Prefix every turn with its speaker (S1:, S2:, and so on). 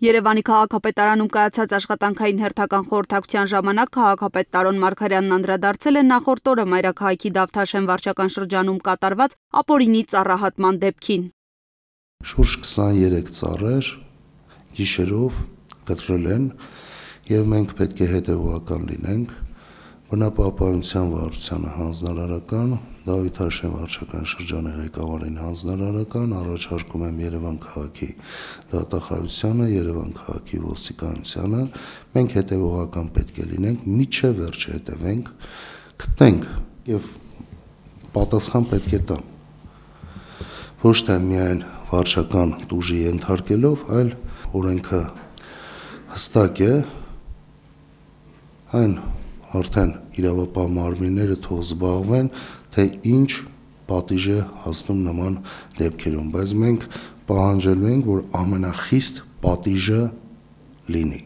S1: Երևանի քաղաքապետարանում կայացած աշխատանքային հերթական խորհրդակցության ժամանակ քաղաքապետ Տարոն Մարգարյանն անդրադարձել է նախորդ օրը Մայրաքաղաքի Դավթաշեն վարչական շրջանում կատարված ապօրինի ծառահատման դեպքին։
S2: Շուրջ 23 ծառեր գիշերով կտրել են եւ մենք պետք է հետեւողական լինենք։ Բնապահպանության վարչությանը հանձնարարական, Դավթաշեն վարչական շրջանի ղեկավարին հանձնարարական, առաջարկում եմ Երևան քաղաքի դատախազությանը, Երևան քաղաքի ոստիկանությանը, մենք հետևողական պետք է լինենք, միջև վերջը հետևենք, գտնենք եւ պատասխան պետք է տան։ Ոչ թե միայն վարչական տուժի ենթարկելով, այլ օրենքը հստակ է, այն արդեն իրավապահ մարմինները թող զբաղվեն, թե ինչ պատիժ է հասնում նման դեպքերում, բայց մենք պահանջելու ենք, որ ամենախիստ պատիժը լինի։